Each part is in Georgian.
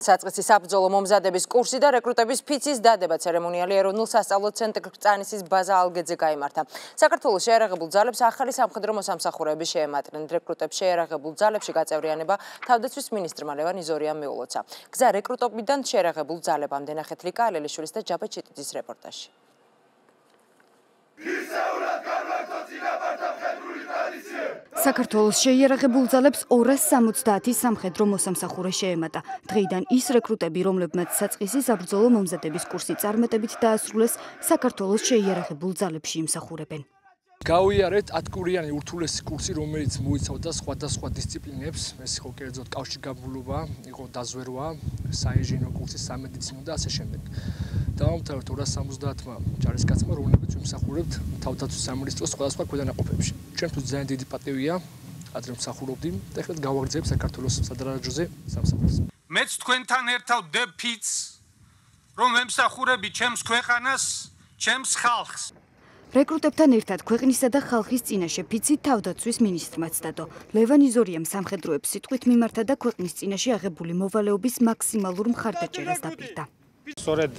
საწყისი საბრძოლო მომზადების კურსი და რეკრუტების ფიცის დადება ცერემონიალი ეროვნულ სასწავლო ცენტრ კრწანისის ბაზა ალგეძე გაიმართა. საქართველოს შეიარაღებულ ძალებს ახალი სამხედრო მოსამსახურეები შეემატნენ. რეკრუტებს შეიარაღებულ ძალებში გაწევრიანება თავდაცვის მინისტრმა ლევან იზორიამ მიულოცა. გზა რეკრუტობიდან შეიარაღებულ ძალებამდე ნახეთ ლიკა ალელიშვილის და ჯაბა ჩიტიძის რეპორტაჟი. საქართველოს შეიარაღებულ ძალებს 270 სამხედრო მოსამსახურე შეემატა. დღეიდან ის რეკრუტები, რომლებმაც საწყისი საბრძოლო მომზადების კურსი წარმატებით დაასრულეს, საქართველოს შეიარაღებულ ძალებში იმსახურებენ. გავიარეთ 10 კვირიანი ურთულესი კურსი, რომელიც მოიცავდა სხვადასხვა დისციპლინებს, ეს იყო კერძოდ კავშირგაბმულობა, იყო დაზვერვა, საინჟინრო კურსი, სამედიცინო და ასე შემდეგ. დავამთავრეთ 270-მა ჯარისკაცმა, რომლებიც ვიმსახურებთ თავდაცვის სამინისტროს სხვადასხვა ქვედანაყოფებში. ჩვენთვის ძალიან დიდი პატივია, ადრე მსახურობდი და ეხლა გავაგრძელებ საქართველოს სადარაჯოზე სამსახურს. მეც თქვენთან ერთად ვდებ ფიცს, რომ ვემსახურები ჩემს ქვეყანას, ჩემს ხალხს. რეკრუტებთან ერთად ქვეყნისა და ხალხის წინაშე ფიცი თავდაცვის მინისტრმაც დადო. ლევან იზორიამ სამხედროებს სიტყვით მიმართა და ქვეყნის წინაშე აღებული მოვალეობის მაქსიმალურ მხარდაჭერას დაპირდა. სწორედ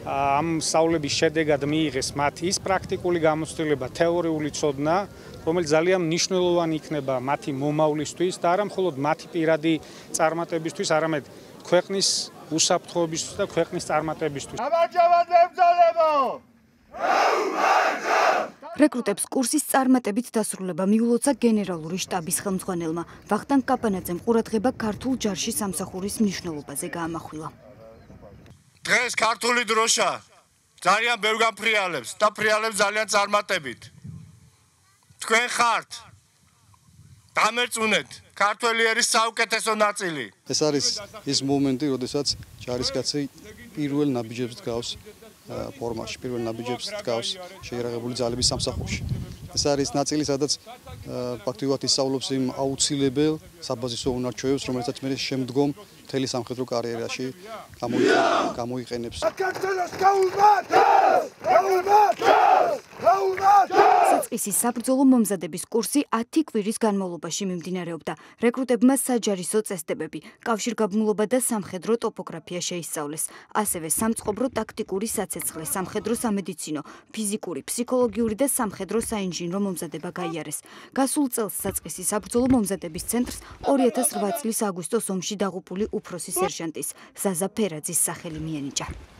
ამ სწავლების შედეგად მიიღეს მათ ის პრაქტიკული გამოცდილება, თეორიული ცოდნა, რომელიც ძალიან მნიშვნელოვანი იქნება მათი მომავლისთვის და არა მხოლოდ მათი პირადი წარმატებისთვის, არამედ ქვეყნის უსაფრთხოებისთვის და ქვეყნის წარმატებისთვის. რეკრუტებს კურსის წარმატებით დასრულება მიულოცა გენერალური შტაბის ხელმძღვანელმა. ვახტანგ კაპანაძემ ყურადღება ქართულ ჯარში სამსახურის მნიშვნელობაზე გაამახვილა. დღეს ქართული დროშა ძალიან ბევრ განფრიალებს და ფრიალებს ძალიან წარმატებით. თქვენ ხართ დამერწმუნეთ ქართველი ერის საუკეთესო ნაწილი. ეს არის ის მომენტი, როდესაც ჯარისკაცი პირველ ნაბიჯებს დგავს ფორმაში, პირველ ნაბიჯებს დგავს შეიარაღებული ძალების სამსახურში. ეს არის ნაწილი, სადაც ფაქტობრივად ისწავლობს იმ აუცილებელ საბაზისო უნარჩვევებს, რომელსაც მე შემდგომ მთელი სამხედრო კარიერაში გამოიყენებს. საწყისი საბრძოლო მომზადების კურსი 10 კვირის განმავლობაში მიმდინარეობდა. რეკრუტებმა საჯარისო წესდებები, კავშირგაბმულობა და სამხედრო ტოპოგრაფია შეისწავლეს. ასევე სამწყობრო ტაქტიკური საცეცხლე, სამხედრო სამედიცინო, ფიზიკური, ფსიქოლოგიური და სამხედრო საინჟინრო მომზადება გაიარეს. გასულ წელს საწყისი საბრძოლო მომზადების ცენტრს 2008 წლის აგვისტოს ომში დაღუპული უფროსი სერჟანტის ზაზა ფერაძის სახელი მიენიჭა.